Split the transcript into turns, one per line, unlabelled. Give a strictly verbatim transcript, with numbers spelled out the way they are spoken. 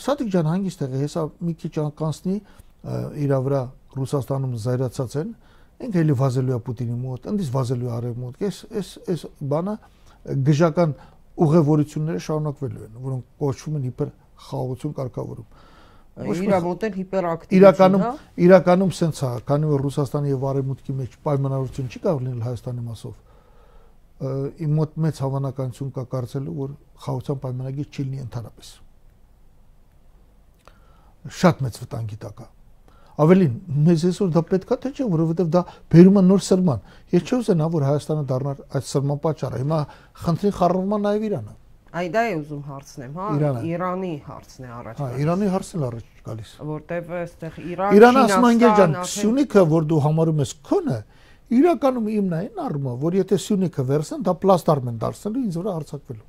Սադիկ ջան հանգիստ եղի, հեսա մի քիչ կանցնի իր վրա Ռուսաստանում զայրացած են, ինքը էլի վազելու է Պուտինի մոտ, ընդից վազելու է արևմուտք, այս այս այս բանը գժական ուղևորությունները շարունակվելու են, որոնք կոչվում են հիպեր խաղաղություն կարգավորում։
Իրա մոտ էլ հիպերակտիվ։
Իրականում իրականում սենց է, քանի որ Ռուսաստանի եւ արևմուտքի մեջ պայմանավորություն չի կարող լինել Հայաստանի մասով։ Իմ մոտ մեծ հավանականություն կա կարծելու, որ խաղաղության պայմանագիր չի լինի ընդհանրապես։ Շատ մեծ վտանգի տակ է։ Ավելին, մեզ այսօր դա պետք է թե չէ, որովհետև դա բերում է նոր սրման։ Ես չուզենա, որ Հայաստանը դառնար այդ սրման պատճառը։ Հիմա խնդրի խառնումը նաև Իրանը։
Այ դա է ուզում հարցնեմ, հա, Իրանի հարցն է առաջ։
Հա, Իրանի հարցն էլ առաջ գալիս։
Որտեվ այստեղ Իրան,
Իրանը ասում են ջան, Սյունիքը, որ դու համարում ես քոնը, իրականում իմն է այն առումով, որ եթե Սյունիքը վերցնեն, դա պլաստարմ են դարձնելու ինձ վրա հարձակվելու։